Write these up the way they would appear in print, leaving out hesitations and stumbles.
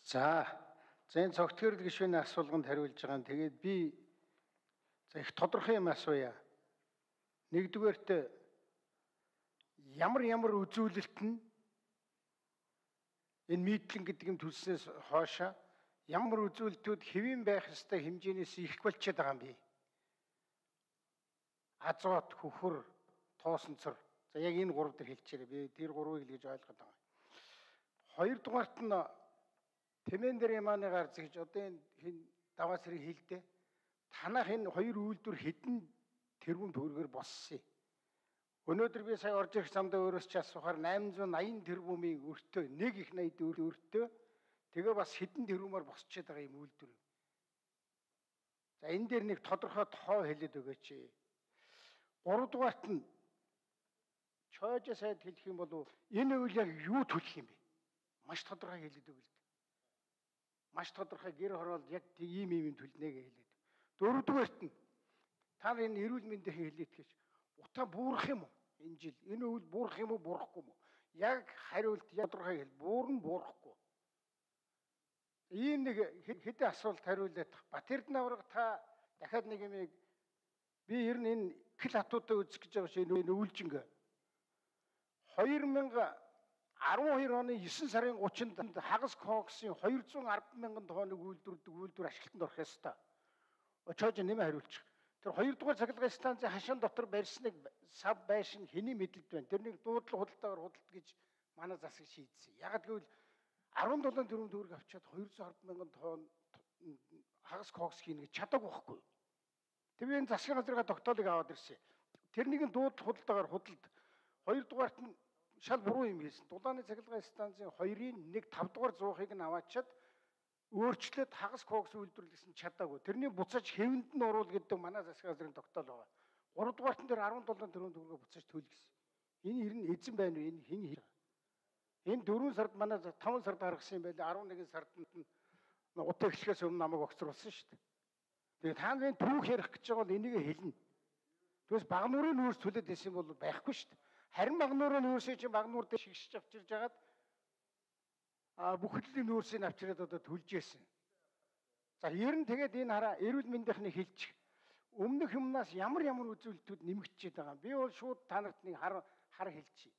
За энэ цогтгөрөл гишүүний асуулганд хариулж байгаа нь тэгээд би их тодорхой юм асууя. Нэгдүгээрт ямар үзүүлэлт нь энэ митлэн гэдэг юм төлснөөс хоошо ямар үзүүлэлтүүд хэвийн байх ёстой хэмжээнээс их болчиход байгаа юм бэ? Азот, хөхөр, тоосонцор. За яг энэ гурав дээр хэлчихээрэй. Би тэр гурвыг л гэж ойлгоод байгаа. Хоёрдугаарт нь Тэмээн дээр ямааны гарц гэж одоо энэ даваас хэрэг хэлдэ. Танах энэ хоёр үйлдвэр хэдэн тэрбум төгрөгөөр боссон. Өнөөдөр би сая орж ирэх замдаа өөрөөс ч асуухаар 880 тэрбумын өртөө, нэг их 80 өртөө тэгээ бас хэдэн тэрбумаар босчиход байгаа юм үйлдвэр. За энэ дээр нэг тодорхой тоо хэлээд өгөөч. Гуравдугаарт нь чойж сайд хэлэх юм бол энэ үйл яг юу төлөх юм бэ? Маш тодорхой хэлээд өгөл. Маш тодорхой гэр хороолд яг ийм төлнэ гэж хэлээд. Дөрөвдүгээрт нь та энэ эрүүл мэндийн хэлээд гэж утаа буурах юм уу? Энэ жил энэ үйл буурах юм уу, буурахгүй юм уу? Яг хариулт тодорхой хэл буурна, буурахгүй. Ийм нэг хэдэн асуулт хариулаад Батэрдэн авраг та дахиад нэг юм би ер нь энэ хэл хатуудаа үзэх гэж байгаа чинь энэ үйлжинг 2012 оны 9 сарын 30-нд хагас коксын 210 мянган тоног үйлдвэр ашиглалтанд орох ёстой. Очоож нэмэ хариулчих. Тэр 2 дугаар цахилгаан станцын хашаан дотор барьсныг сав байшин хэний мэдлэлд байна. Тэрнийг дуудлага худалдаагаар худалдаж гэж манай засаг шийдсэн. Ягаад гэвэл 17 тэрбум төгрөг авчиад 210 мянган тонн хагас кокс хийнэ гэж чадаагүй байхгүй. Тэр энэ засгийн газрын тогтоолыг аваад ирсэн. Тэрнийг дуудлага худалдаагаар худалд. 2 дугаарт нь шал буруу юм хийсэн. Дулааны цахилгаан станцын 2-ын 1/5 дугаар зуухыг нь аваачаад өөрчлөлт хагас кокс үйлдвэрлэсэн чадаагүй. Тэрний буцааж хэвэнд нь оруул гэдэг манай засгийн газрын тогтоол байгаа. 3 дугаартан дээр 17 тэрбум төгрөгөөр буцааж төлгсөн. Энэ ер нь эзэн байна уу? Энэ хэн хийх? Энэ 4 сард манай 5 сард гаргасан юм байлаа. 11 сард нь утаа эхлэхээс өмнө намайг огцруулсан шүү дээ. Тэгээ та нарын түүх ярих гэж байгаа бол энийг хэлнэ. Тэгээс багнуурын нүүрс төлөд байсан бол байхгүй шүү дээ. Харин багнуурын нүүрсээ чинь багнуур дээр шигшиж авчирж хагаад бүхэлдийн нүүрсийг авчираад одоо төлж яасан. За ер нь тэгээд энэ хараа эрүүл мэндийнхний хэлчих. Өмнөх юмнаас ямар үзүүлэлтүүд нэмэгдчихэд байгаа. Би бол шууд та нарт нэг хар хэлчихье.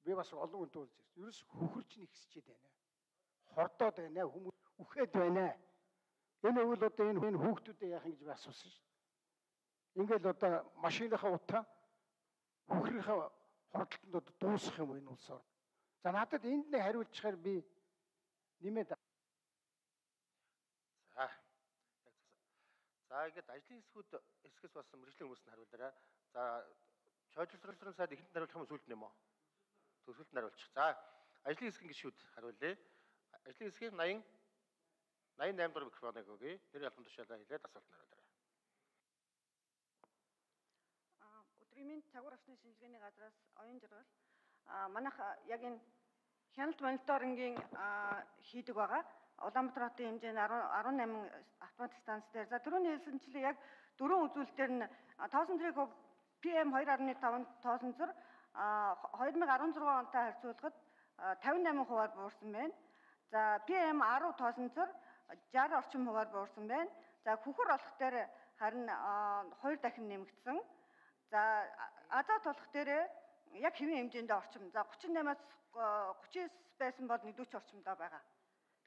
Би бас олон хүнтэй уулзсан. Ерөөс хөхөрч нэгсчихэд байна. Хордоод байна, хүмүүс үхээд байна. Энэ үйл одоо энэ хүүхдүүдэд яах юм гэж би асуусан шүү дээ. Ингээл одоо машиныхаа утаа хөхрийнхаа хордлолтод одоо дуусах юм энэ улсоор. За надад энд нэг хариулчихаар би нэмээд. За ингээд ажлын хэсгээс болсон мэргэжлийн хүмүүст нь хариулаарай. За чойжлолцсон сайд ихэнд хариулах юм сүлд нэмэ. Төсөлд нь хариулчих. За ажлын хэсгийн гишүүд хариулъя. Ажлын хэсгийн 88 дугаар микрофоныг өгье. Тэр ялган тушаалаа хэлээд асуулт нь хариулаарай. Өдрийн мэнд цагур авсны шинжилгээний газраас оюун жаргал манайх яг энэ хяналт мониторингийн хийдэг байгаа. Улаанбаатар хотын хэмжээнд 18 автомат станц дээр. За түрүүний хэлсэнчлээ яг 4 үзүүлэлтээр нь тоосон тэрэг PM 2.5 тоосонцор 2016 онтой харьцуулахад 58% буурсан байна. За PM 10 тоосонцор 60 орчим хувиар буурсан байна. За хөхөр олох дээр харин 2 дахин нэмэгдсэн. За азот олох дээр яг хэвийн хэмжээндээ орчим. За 38-аас 39 байсан бол 40 орчимдоо байгаа.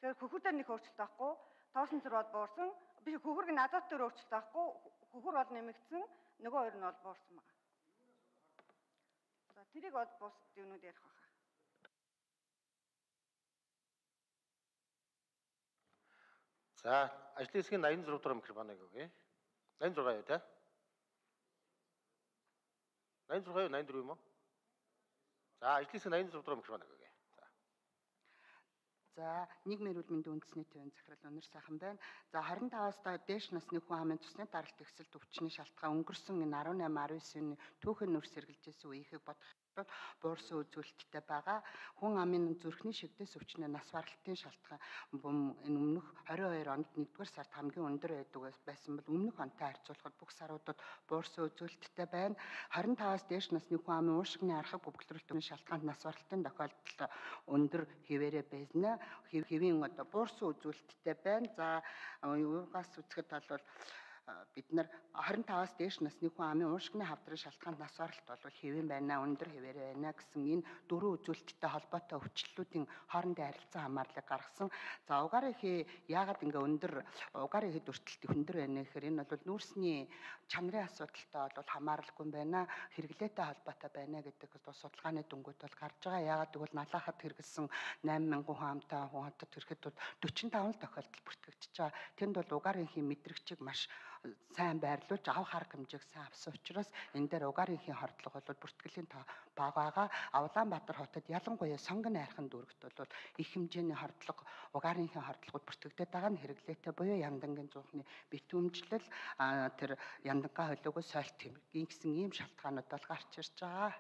Тэгэхээр хөхөр дээр нэг өөрчлөлт байхгүй. Тоосонцор бол буурсан. Биш хөхөрг нь азот дээр өөрчлөлт байхгүй. Хөхөр бол нэмэгдсэн. Нөгөө хоёр нь бол буурсан байгаа. За тэрийг бол бус юмнууд ярих байна. За ажлын хэсгийн 86 дугаар микрофоныг өгье. 86 юу те? 86 юу 84 юм уу? За ажлын хэсгийн 86 дугаар микрофоныг өгье. За нийгмийн эрүүл мэндийн үндэсний төвийн захирал Өнөр сайхан байна. За 25-аас дээш насны хүн амын цусны даралт ихсэлт өвчний шалтгаан өнгөрсөн энэ 18-19-ны түүхэн нүрс сэргэлжсэн үеийг бодох буурсан үзүүлэлттэй байгаа. Хүн амын зүрхний шигдээс өвчнөө нас баралтын шалтгаан энэ өмнөх 22 онд 1-р сард хамгийн өндөр байсан бол өмнөх онтой харьцуулахад бүх саруудад буурсан үзүүлэлттэй байна. 25-аас дээш насны хүн амын уушигны архаг бүглэрэлтийн шалтгаанд нас баралтын тохиолдол өндөр хэвээрээ байна. Хэвийн буурсан үзүүлэлттэй байна. За юугаас үзэхэд бол бид нар 25-аас дээш насны хүн амын уушигны хавдрын шалтгаанд нас баралт бол хэвэн байна, өндөр хэвээр байна гэсэн энэ дөрвөн үзүүлэлттэй холбоотой өвчлөлүүдийн хоорондын харилцан хамаарлыг гаргасан. За угаар ихе яагаад ингээ угаар ихэд өртөлт өндөр байна гэхээр энэ бол нүүрсний чанарын асуудалтай бол хамааралгүй байна, хэрэглээтэй холбоотой байна гэдэг судалгааны дүнгууд бол гарч байгаа. Яагаад гэвэл налахад хэрэгэлсэн 8000 хүн амтай хүн хотод ирэхэд 45 тохиолдол бүртгэгдэж байгаа. Тэнд бол угаарын ихийн мэдрэгчийг маш сайн байрлуулж авах арга хэмжээг сайн авсан учраас энэ дээр угаарын ихийн хордлого бол бүртгэлийн бага байгаа. Улаанбаатар хотод ялангуяа сонгон найрхан дүүрэгт бол их хэмжээний хордлого угаарын ихийн хордлогод бүртгэгдээд байгаа нь хэрэглээтэй буюу яндангийн зуухны битүүмжлэл тэр яндангаа холиогоо сойлт хэмжээ гэсэн ийм шалтгаанууд бол гарч ирж байгаа.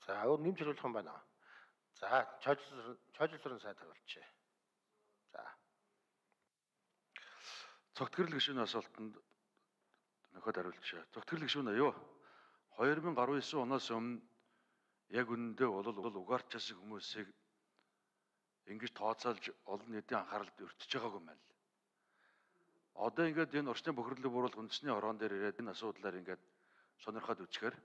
За өөр нэмж хариулах юм байна. За чойжлсрын сайд хариулчих. За. Цогтгэрэл гишүүний асуултанд нөхөд хариулчих. Цогтгэрэл гишүүн аюу 2019 оноос өмнө яг үнэндээ бол угаарч асыг хүмүүсийг ингэж тооцоолж олон нийтийн анхааралд өртөж байгаагүй юм байна л. Одоо ингээд энэ орчны бохирлыг бууруулах үндэсний хорон дээр ирээд энэ асуудлаар ингээд сонирхоод үзэхээр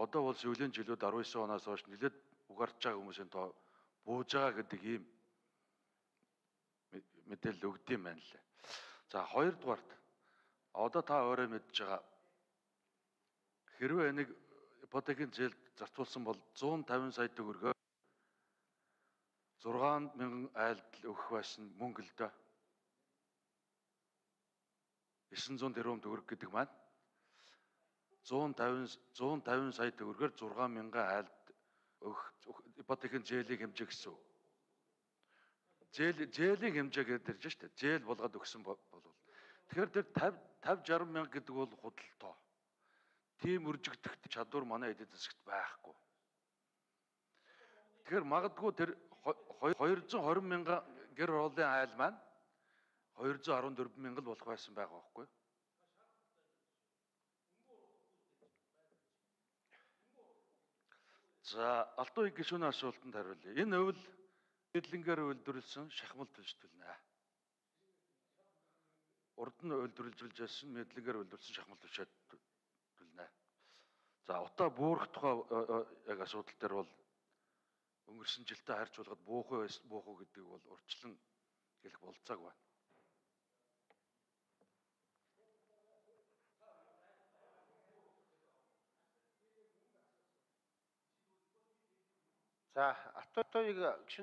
одоо бол сүүлийн жилүүд 19 оноос хойш нэлээд угаарч байгаа хүмүүсийн тоо бууж байгаа гэдэг ийм мэдээлэл өгд юм байна лээ. За хоёрдугаарт одоо та өөрөө мэдж байгаа хэрвээ нэг ипотекийн зээлд зарцуулсан бол 150 сая төгрөгөө 6,000 айлд өгөх байсан мөнгө л дөө. 900 тэрбум төгрөг гэдэг маань 150 сая төгрөгөөр 6,000 айлд өгөх ипотекийн зээлийн хэмжээ гэсэн үг. Зээлийн хэмжээ гэдэг ирж штэ. Зээл болгоод өгсөн бол. Тэгэхээр тэр 50-60 мянга гэдэг бол худалдаа. Тийм үржигдэх чадвар манай эдийн засагт байхгүй. Тэгэхээр магадгүй тэр 220 мянган гэр оролын айл маань 214 мянга л болох байсан байгаа байхгүй. За Алтан уугийн гишүүний асуултанд хариулъя. Энэ өвөл мэдлэнгээр үйлдвэрлэсэн шахмал төлжтөлнэ. Урд нь үйлдвэрлэж байсан мэдлэнгээр үйлдвэрлэсэн шахмал төлнэ. За утаа буурах тухай яг асуудал дээр бол өнгөрсөн жилдээ харьцуулахад буух уу гэдэг бол урьдчилан хэлэх болцоог байна. За Алтан уугийн гишүүний